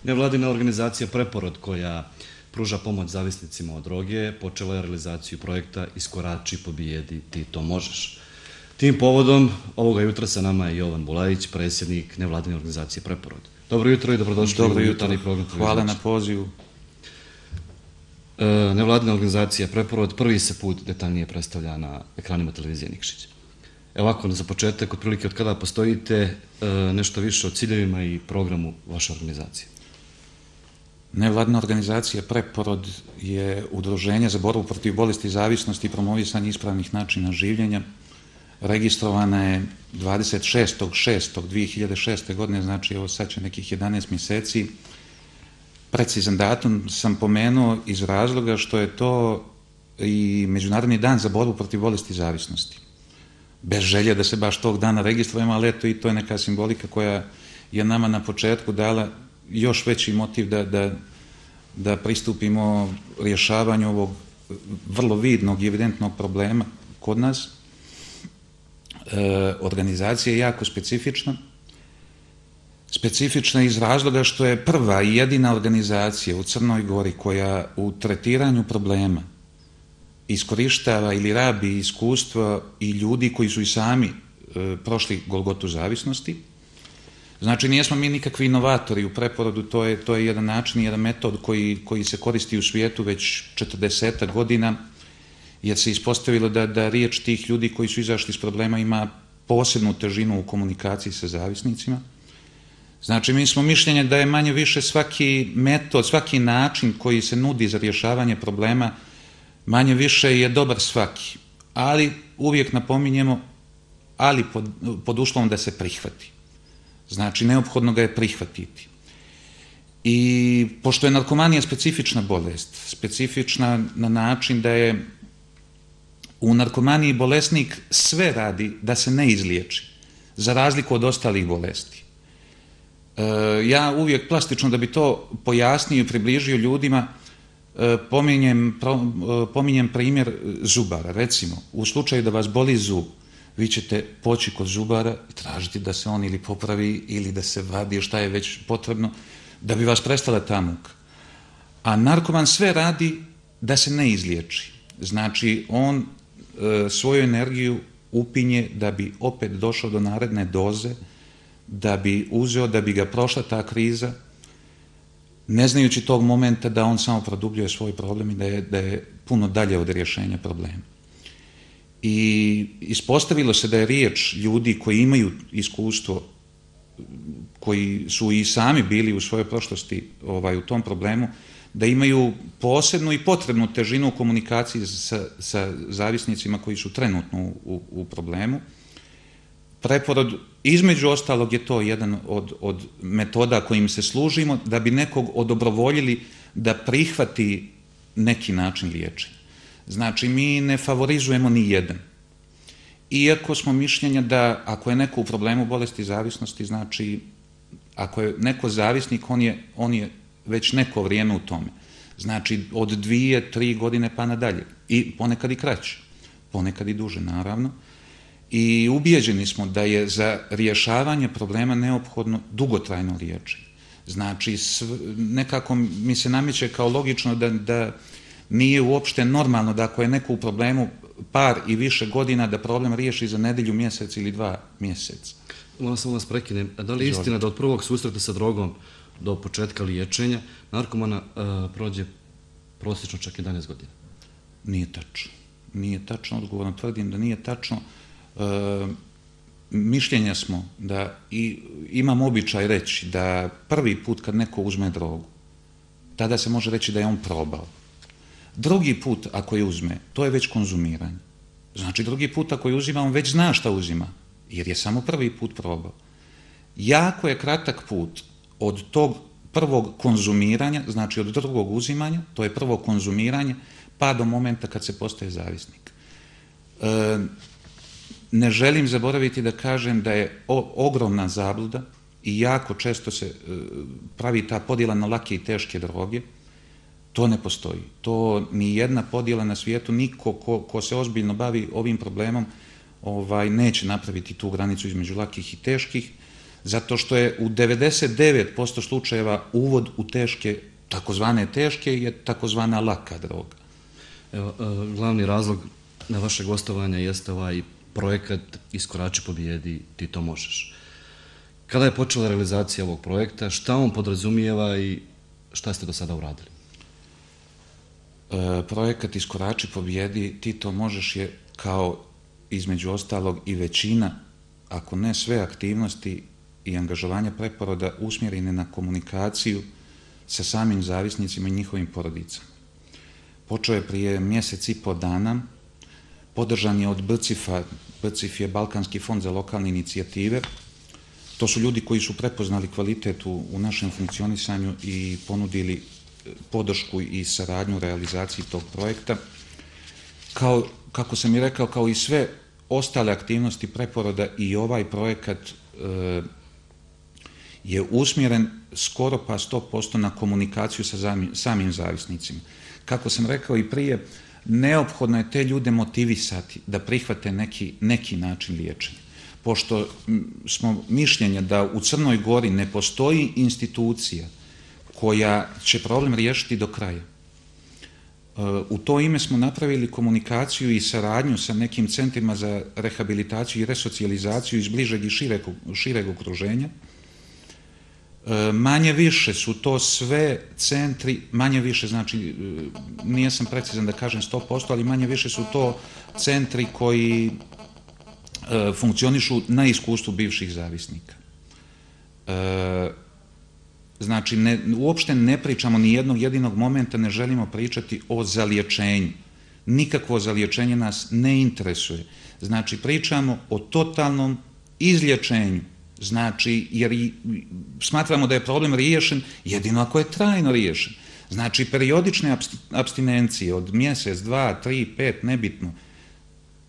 Nevladina organizacija Preporod, koja pruža pomoć zavisnicima od droge, počela je realizaciju projekta Iskorači, pobijedi, ti to možeš. Tim povodom ovoga jutra sa nama je Jovan Bulajić, predsjednik Nevladine organizacije Preporod. Dobro jutro i dobrodošli u jutarnji program. Hvala na pozivu. Nevladina organizacija Preporod prvi se put detaljnije predstavlja na ekranima televizije Nikšić. Evo ovako, za početak, otprilike od kada postojite, nešto više o ciljevima i programu vaše organizacije. Nevladina organizacija Preporod je udruženje za borbu protiv bolesti zavisnosti i promovisanje ispravnih načina življenja. Registrovana je 26.6.2006. godine, znači evo sad će nekih 11 mjeseci. Precizan datum sam pomenuo iz razloga što je to i Međunarodni dan za borbu protiv bolesti zavisnosti. Bez želje da se baš tog dana registrujemo, ali eto i to je neka simbolika koja je nama na početku dala još veći motiv da pristupimo rješavanju ovog vrlo vidnog i evidentnog problema kod nas. Organizacija je jako specifična. Specifična iz razloga što je prva i jedina organizacija u Crnoj Gori koja u tretiranju problema iskorištava ili rabi iskustva i ljudi koji su i sami prošli golgotu zavisnosti. Znači, nijesmo mi nikakvi inovatori u Preporodu, to je jedan način i jedan metod koji se koristi u svijetu već 40 godina, jer se ispostavilo da riječ tih ljudi koji su izašli iz problema ima posebnu težinu u komunikaciji sa zavisnicima. Znači, mi smo mišljenja da je manje više svaki metod, svaki način koji se nudi za rješavanje problema, manje više je dobar svaki, ali uvijek napominjemo, ali pod uslovom da se prihvati. Znači, neophodno ga je prihvatiti. I pošto je narkomanija specifična bolest, specifična na način da je u narkomaniji bolesnik sve radi da se ne izliječi, za razliku od ostalih bolesti. Ja uvijek plastično, da bi to pojasnio i približio ljudima, pominjem primjer zubara. Recimo, u slučaju da vas boli zub, vi ćete poći kod zubara i tražiti da se on ili popravi ili da se vadi, šta je već potrebno, da bi vas prestala ta muka. A narkoman sve radi da se ne izliječi. Znači, on svoju energiju upinje da bi opet došao do naredne doze, da bi uzeo, da bi ga prošla ta kriza, ne znajući tog momenta da on samo produbljuje svoj problem i da je puno dalje od rješenja problema. I ispostavilo se da je riječ ljudi koji imaju iskustvo, koji su i sami bili u svojoj prošlosti u tom problemu, da imaju posebnu i potrebnu težinu u komunikaciji sa zavisnicima koji su trenutno u problemu. Preporod, između ostalog, je to jedan od metoda kojim se služimo da bi nekog odobrovoljili da prihvati neki način liječenja. Znači, mi ne favorizujemo ni jedan. Iako smo mišljenja da ako je neko u problemu bolesti zavisnosti, znači, ako je neko zavisnik, on je već neko vrijeme u tome. Znači, od 2-3 godine pa nadalje. I ponekad i kraće. Ponekad i duže, naravno. I ubijeđeni smo da je za rješavanje problema neophodno dugotrajno liječenje. Znači, nekako mi se nameće kao logično da nije uopšte normalno da ako je neko u problemu par i više godina da problem riješi za nedjelju, mjesec ili 2 mjeseca. Moram samo vas prekinem. Da li je istina da od prvog susreta sa drogom do početka liječenja narkomana prođe prosječno čak 11 godina? Nije tačno. Nije tačno, odgovorno tvrdim da nije tačno. Mišljenja smo da, i imam običaj reći, da prvi put kad neko uzme drogu, tada se može reći da je on probao. Drugi put ako je uzme, to je već konzumiranje. Znači, drugi put ako je uzima, on već zna šta uzima, jer je samo prvi put probao. Jako je kratak put od tog prvog konzumiranja, znači od drugog uzimanja, to je prvo konzumiranje, pa do momenta kad se postaje zavisnik. Ne želim zaboraviti da kažem da je ogromna zabluda i jako često se pravi ta podjela na lake i teške droge. To ne postoji. To ni jedna podjela na svijetu, niko ko se ozbiljno bavi ovim problemom neće napraviti tu granicu između lakih i teških. Zato što je u 99% slučajeva uvod u teške, takozvane teške, je takozvana laka droga. Evo, glavni razlog na vaše gostovanje jeste ovaj projekat Iskorači, pobijedi, ti to možeš. Kada je počela realizacija ovog projekta, šta on podrazumijeva i šta ste do sada uradili? Projekat Iskorači, pobijedi, ti to možeš je kao između ostalog i većina, ako ne sve aktivnosti i angažovanja preporoda usmjerene na komunikaciju sa samim zavisnicima i njihovim porodicama. Počeo je prije mjesec i po dana, podržan je od BCIF-a, BCIF je Balkanski fond za lokalne inicijative. To su ljudi koji su prepoznali kvalitet u našem funkcionisanju i ponudili podršku i saradnju u realizaciji tog projekta. Kako sam i rekao, kao i sve ostale aktivnosti preporoda, i ovaj projekat je usmjeren skoro pa 100% na komunikaciju sa samim zavisnicima. Kako sam rekao i prije, neophodno je te ljude motivisati da prihvate neki način liječenja. Pošto smo mišljenja da u Crnoj Gori ne postoji institucija koja će problem riješiti do kraja. U to ime smo napravili komunikaciju i saradnju sa nekim centrima za rehabilitaciju i resocijalizaciju iz bližeg i šireg okruženja. Manje više su to sve centri, manje više, znači nijesam precizan da kažem 100%, ali manje više su to centri koji funkcionišu na iskustvu bivših zavisnika. Znači, uopšte ne pričamo ni jednog jedinog momenta, ne želimo pričati o zaliječenju. Nikakvo zaliječenje nas ne interesuje. Znači, pričamo o totalnom izlječenju. Znači, jer smatramo da je problem riješen jedino ako je trajno riješen. Znači, periodične apstinencije od mjesec, 2, 3, 5, nebitno,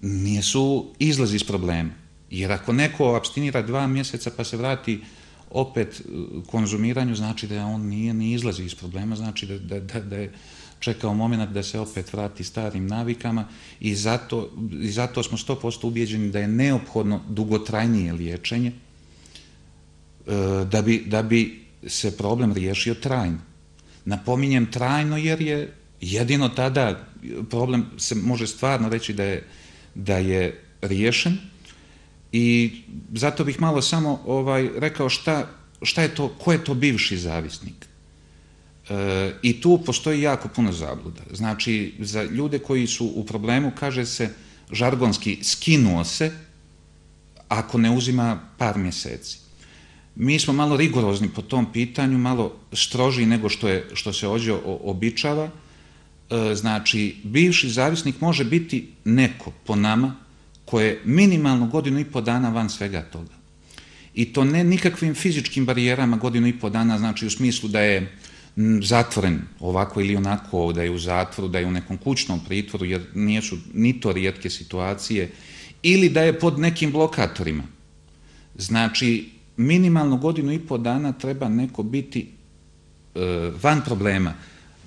nisu izlaz iz problema. Jer ako neko apstinira 2 mjeseca pa se vrati opet konzumiranju, znači da on nije izlazi iz problema, znači da je čekao moment da se opet vrati starim navikama i zato smo 100% ubijeđeni da je neophodno dugotrajnije liječenje da bi se problem riješio trajno. Napominjem trajno jer je jedino tada problem se može stvarno reći da je riješen. I zato bih malo samo rekao šta je to, ko je to bivši zavisnik. I tu postoji jako puno zabluda. Znači, za ljude koji su u problemu, kaže se žargonski, skinuo se ako ne uzima par mjeseci. Mi smo malo rigorozni po tom pitanju, malo strožiji nego što se ovdje običava. Znači, bivši zavisnik može biti neko po nama ko je minimalno 1,5 godina van svega toga. I to ne nikakvim fizičkim barijerama 1,5 dana, znači u smislu da je zatvoren ovako ili onako, da je u zatvoru, da je u nekom kućnom pritvoru, jer nisu ni to rijetke situacije, ili da je pod nekim blokatorima. Znači, minimalno 1,5 dana treba neko biti van problema,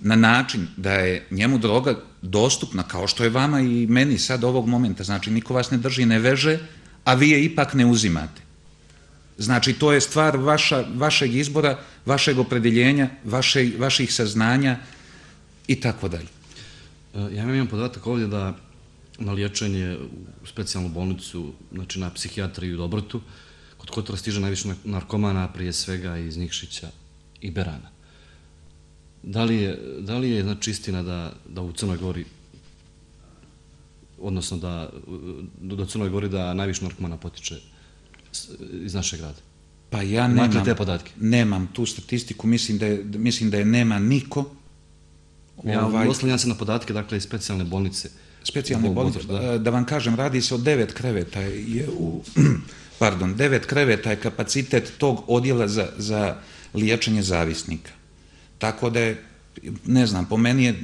na način da je njemu droga dostupna, kao što je vama i meni sad ovog momenta. Znači, niko vas ne drži, ne veže, a vi je ipak ne uzimate. Znači, to je stvar vašeg izbora, vašeg opredjeljenja, vaših saznanja i tako dalje. Ja imam podatak ovdje da na liječenje u specijalnu bolnicu, znači na psihijatriju u Dobrotu, kod Kotora stiže najviše narkomana, prije svega iz Nikšića i Berana. Da li je znači istina da u Crnoj Gori, odnosno do Crnoj Gori da najviše narkomana potiče iz našeg grada? Pa ja imate te podatke? Nemam tu statistiku, mislim da je nema niko. Oslanjam se na podatke, dakle, iz specijalne bolnice. Specijalne bolnice, da vam kažem, radi se o 9 kreveta. 9 kreveta je kapacitet tog odjela za liječenje zavisnika. Tako da je, ne znam, po meni je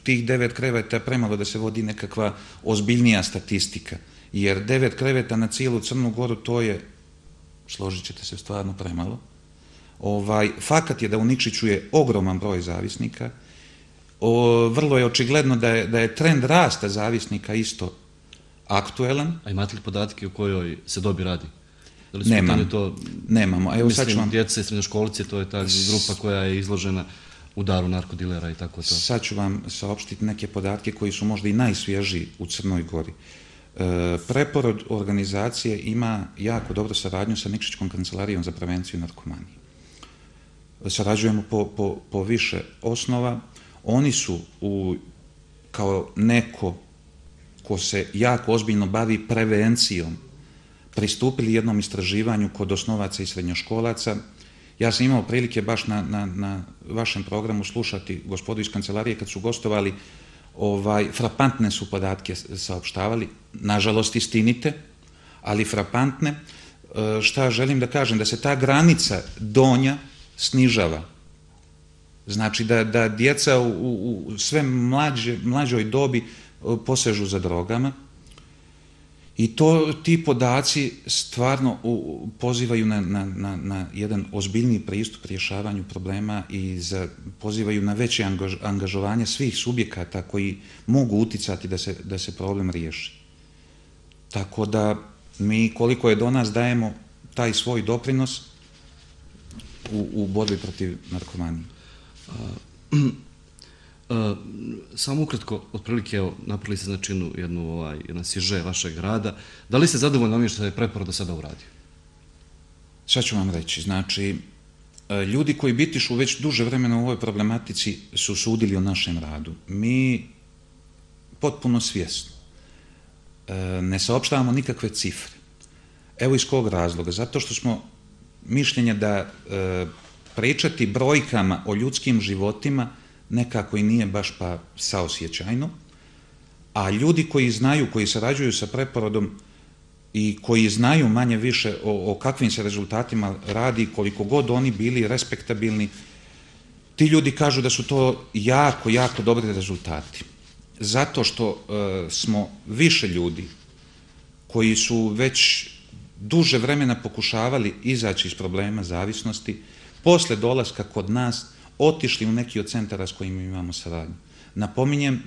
tih 9 kreveta premalo da se vodi nekakva ozbiljnija statistika. Jer 9 kreveta na cijelu Crnu Goru, to je, složit ćete se, stvarno premalo. Fakat je da u Nikšiću je ogroman broj zavisnika. Vrlo je očigledno da je trend rasta zavisnika isto aktuelan. A imate li podatke o kojoj se dobi radi? Da li su u pitanju to, Nemamo. Evo sad ću mislim, vam... djeca i srednjoškolci, to je ta grupa koja je izložena udaru narkodilera i tako to. Sad ću vam saopštiti neke podatke koji su možda i najsvježiji u Crnoj Gori. Preporod organizacije ima jako dobru saradnju sa Nikšićkom kancelarijom za prevenciju narkomanije. Sarađujemo po više osnova. Oni su kao neko ko se jako ozbiljno bavi prevencijom pristupili jednom istraživanju kod osnovaca i srednjoškolaca. Ja sam imao prilike baš na vašem programu slušati gospodu iz kancelarije kad su gostovali, frapantne su podatke saopštavali, nažalost istinite, ali frapantne. Šta želim da kažem? Da se ta granica donja snižava. Znači da djeca u sve mlađoj dobi posežu za drogama i ti podaci stvarno pozivaju na jedan ozbiljniji pristup rješavanju problema i pozivaju na veće angažovanje svih subjekata koji mogu uticati da se problem riješi. Tako da mi koliko je do nas dajemo taj svoj doprinos u borbi protiv narkomanije. Samo ukratko, otprilike, evo, napravili ste znači jedan siže vašeg rada. Da li ste zadovoljni onim što je Preporod do sada uradio? Sad ću vam reći. Znači, ljudi koji bitišu već duže vremena u ovoj problematici su sudili o našem radu. Mi potpuno svjesno ne saopštavamo nikakve cifre. Evo iz kog razloga. Zato što smo mišljenja da pričati brojkama o ljudskim životima nekako i nije baš pa saosjećajno, a ljudi koji znaju, koji sarađuju sa Preporodom i koji znaju manje više o kakvim se rezultatima radi, koliko god oni bili respektabilni, ti ljudi kažu da su to jako, jako dobri rezultati. Zato što smo više ljudi koji su već duže vremena pokušavali izaći iz problema zavisnosti, posle dolaska kod nas otišli u neki od centara s kojima imamo saradnju. Napominjem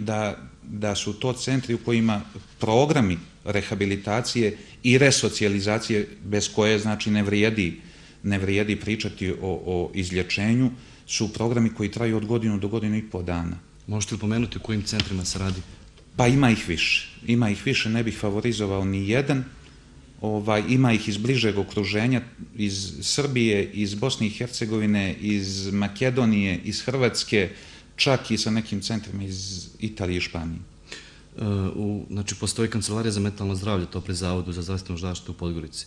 da su to centri u kojima programi rehabilitacije i resocijalizacije, bez koje znači ne vrijedi pričati o izlječenju, su programi koji traju od godinu do godinu i pol dana. Možete li pomenuti u kojim centrima se radi? Pa ima ih više. Ima ih više, ne bih favorizovao ni jedan. Ima ih iz bližeg okruženja, iz Srbije, iz Bosne i Hercegovine, iz Makedonije, iz Hrvatske, čak i sa nekim centrima iz Italije i Španije. Znači, postoji Kancelarija za mentalno zdravlje, to pri Zavodu za zdravstvenu zaštitu u Podgorici.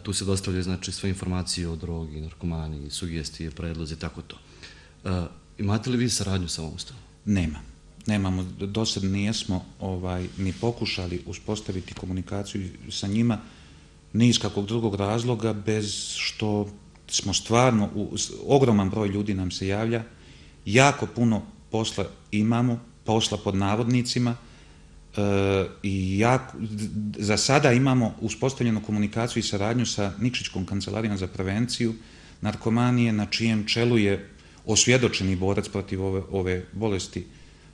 Tu se dostavljaju, znači, sve informacije o drogi, narkomaniji, sugestije, predlozi i tako to. Imate li vi saradnju sa ovom ustanovom? Nemamo, do sad nijesmo ni pokušali uspostaviti komunikaciju sa njima, ni iz kakvog drugog razloga, bez što smo stvarno, ogroman broj ljudi nam se javlja, jako puno posla imamo, posla pod navodnicima, i za sada imamo uspostavljenu komunikaciju i saradnju sa Nikšićkom kancelarijom za prevenciju narkomanije, na čijem čelu je osvjedočeni borac protiv ove bolesti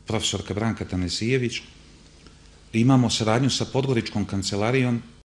profesorka Branka Tanesijević. Imamo saradnju sa Podgoričkom kancelarijom